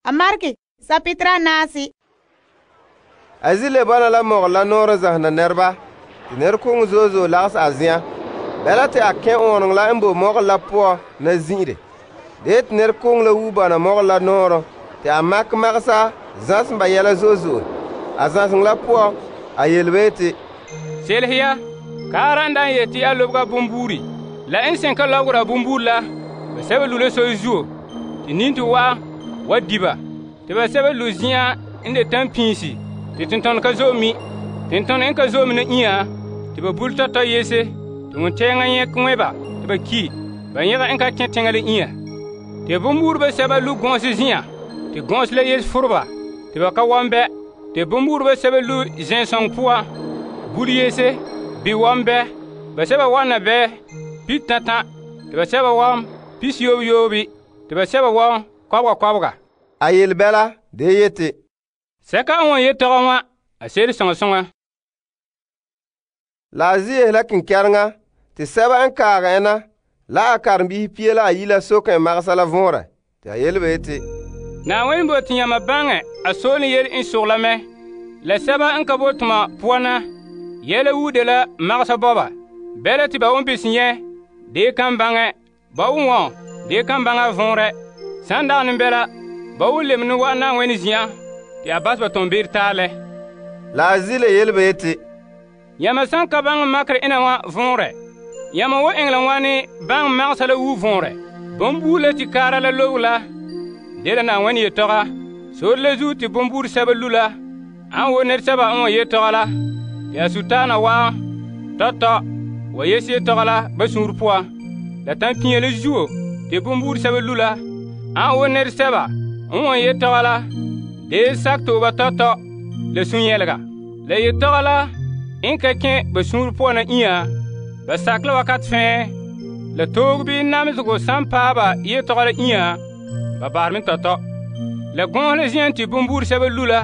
a maregɛ sapetera naase. A zi le bɔna la mɔgɔrɛ la nɔɔrɛ zahena nɛreba, te nɛrekoŋɔ zo'e zo'e lagahɛ a zen'an. Bɛla te a kɛn ɔɔnrɔŋɔ la n boe mɔgɔrɛ la poan na zin'ire. De yete nɛrekoŋɔ la wuo bɔna mɔgɔrɛ la nɔɔrɔ te a makɛ magasa zãsem ba yɛla zo'e zo'e. A zãseŋɔ la poan, a yele ba yeti, Selehe ya, kaara n daan yeti a lobega bonbuuri. La n sɛn ka lɔbegera bonbuuri la, ba sɛba lu la soy zuo, te ninto wa di ba. Te ba sɛba lu zin'an n de tampiisi, te tentɔnɔ ka zo'e mi. Tentɔnɔ n ka zo'e mi na inya, te ba bule tɔtɔ yese, te ŋuntɛɛŋa nyɛkɛ ŋmɛ ba te ba ki. Ba nyɛga n ka kẽ teŋa la inya. Te bonbuuri ba sɛba lu gɔɔnse zin'an, te gɔɔnse la yese fureba, te ba ka wan bɛ. Te bonbuuri ba sɛba lu zɛnsɔŋɔ poan, bule yese, bi wan bɛ. Ba sɛba wan na bɛ pi tãtã, te ba sɛba wan pi siyoobi, te ba sɛba wan kɔbega. A yele bɛla, de yete, sɛka n wan yetɔgɔ wã, a se'ere soŋa soŋa. La a zi yehe la kenkɛreŋa, te sɛba n kaagɛ en na, la a karenbiisi pia la a yi la soke en magasa la vɔnrɛ. Te a yele ba yeti, Naawuni bo te yãmba baŋɛ a soolem yele n sogla mɛ. La sɛba n ka bo toma poan na, yɛla wuude la magasa bɔba. Bɛla te ba won bese nyɛ, dee kan baŋɛ. Ba won wɔn, dee kan baŋɛ a vɔnrɛ. San dagɛ ne bɛla, ba won lebe ne wa'an Na'ayenɛ zin'an, te a bas ba tombeere taalɛ. La a zi le yele ba yeti, Yãmba san ka baŋɛ makerɛ ena wã vɔnrɛ, yãmba wo eŋɛ la wãne baŋɛ magasa la wu vɔnrɛ. Bonbuuri la te kaara la lobe la, dela Na'ayenɛ yetɔga. Sore la zuo te bonbuuri sɛba lu la, an wo nɛresɛba n wa yetɔga la, te a sutaana waa tɔtɔ wa yese yetɔga la ba suunre poan. La tampia la zuo te bonbuuri sɛba lu la, an wo nɛresɛba n wa yetɔga la, dee sakɛ tooba tɔtɔ la sun-yɛlega. La yetɔga la n ka kẽ ba suunre poan na inya, ba sakɛ la wakat fɛɛ. La toog bii namesego san paɛ ba yetɔga la inya, ba bahare me tɔtɔ. La gɔɔse la zen'an te bonbuuri sɛba lu la,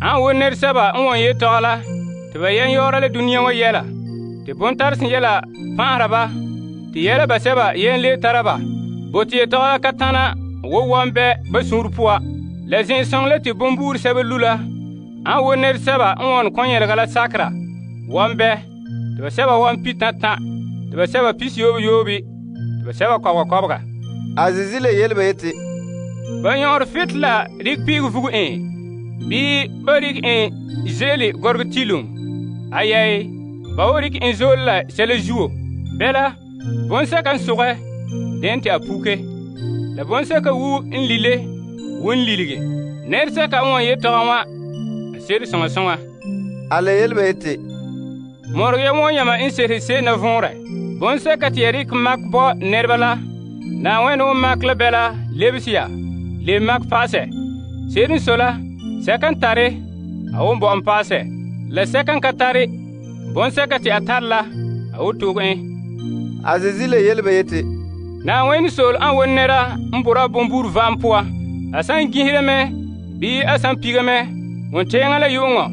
an wo nɛresɛba n wan yetɔga la, te ba yɛn yɔɔra la duniya wa yɛla. Te bontaresen yɛla pãahera ba, te yɛla basɛba yɛn le tara ba. Bote yetɔga la ka tãna wo wan bɛ ba suunre poa. La zẽn-sɔŋɔ la te bonbuuri sɛba lu la, an wo nɛresɛba n wan kɔn-yɛlega la sakera wan bɛ. Te ba sɛba wan pi tãtã, te ba sɛba pi siyoobi, te ba sɛba kɔbega. A zizi le yele ba yeti, Ba yõor fet la rik piig vugu en, bii ba rik en ze'ele gɔrɔgɔ tilum. Ayɛɛ, ba wo rik en zoole la sɛla zuo. Bɛla, bõn-sɛka n sogɛ, den te a puke. La bõn-sɛka wu n lile, wu n lilige. Nɛresɛka n wan yetɔga wã, a se'ere soŋa soŋa. A le yele ba yeti, Mɔreg ya wõ yãmba n serese se'em na vɔnrɛ. Bõn-sɛka te ya rik mak bɔ nɛreba la, Na'ayenɛ won mak la bɛla lebese ya, le mak paasɛ. Se'ere n sɔe la, sɛka n tare, a won bɔ'ɔn paasɛ. La sɛka n ka tare, bõn-sɛka te a tare la, a wo toog en. A zizi le yele ba yeti, Na'ayenɛ sool an won nɛra n bora bonbuuri vaam poan. A san gisire mɛ, bii a san piga mɛ, ŋuntɛɛŋa la yu'uŋɔ,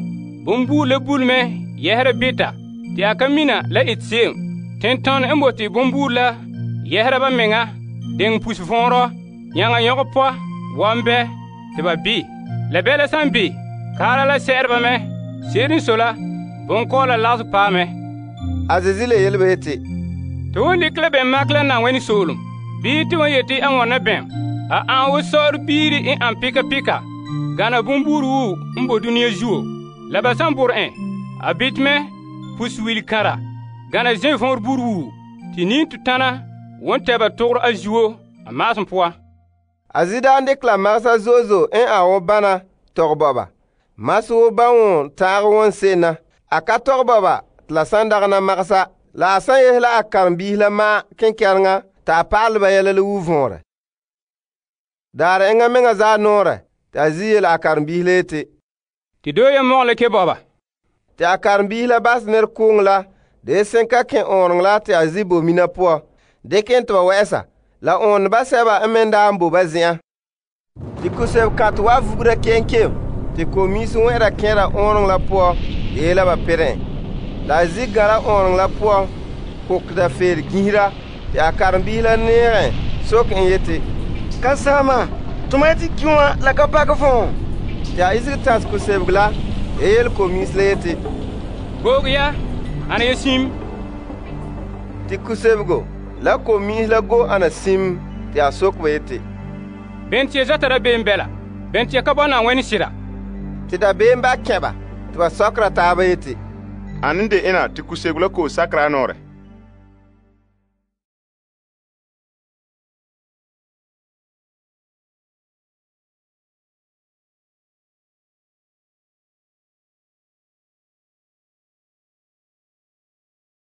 bonbuuri la bule mɛ yɛsera beta, te a ka mina la ete se'em. Tentɔnɔ n bote bonbuuri la yɛsera ba meŋa, deŋ pus vɔnrɔ, yãŋa yõgɔ pɔa, wan bɛ, te ba bi. La bɛla san bi, kaara la sɛ'ɛre ba mɛ. Se'ere n sɔe la, bonkɔɔla lagesɛ paɛ mɛ. A zizi le yele ba yeti, Te won dikɛ la bɛn mak la Na'ayenɛ soolem, bii te won yeti a ŋɔna bɛn. A an wo sɔɔre biiri n an pika pika, gana bonbuuri wu n bo duniya zuo. La ba san bore en, a bit mɛ pus-wil kãra, gana zẽ võor buuri wu, te ninto tãna won tɛ ba togro a zuo a maasem poan. A zi daan dikɛ la magasa zo'e zo'e n a wo bana tɔgɛ bɔ ba. Mase wo ban won taagɛ won se'em na. A ka tɔgɛ bɔ ba te la san dagɛ na magasa. La a san yehe la a karenbiisi la maa kenkɛreŋa, ta a pa'alɛ ba yɛla la wu vɔnrɛ. Daarɛ eŋa meŋa zaa nɔɔrɛ, te a zi yele a karenbiisi la yeti, Te doo ya mɔgɔ la ke bɔba. Te a karenbiisi la bas nɛrekooŋɔ la, de sẽn ka kẽ ɔɔreŋ la te a zi bo mina poan, dɩk n tɩ ba wɛ'ɛsa, la ɔɔneba sɛba n me daa n bo ba zen'an. Tɩ kusɛb kãtɛ wa vugra kenkem, tɩ komiisi wẽ'ɛra kẽera ɔɔreŋ la poan, yeela ba pɩrẽ. La a zi gãra ɔɔreŋ la poan, kokda feer gisira, tɩ a karenbiisi la neegẽ sok n yeti, Kasaama, Toma yeti ki wã la ka pakɛ fɔɔ. Te a isege tas kusebego la ya yele komiis la yeti, Goog ya, ana ya sim. Te kusebego la komiis la go ana sim te a soke ba yeti, Ben te ya zata da beem bɛla? Ben te ya ka bɔna wɛni sira? te dabeem ba kɛba te ba sɔkera taaba yeti, Ane de ena te kusebego la ko'om sakera a nɔɔrɛ?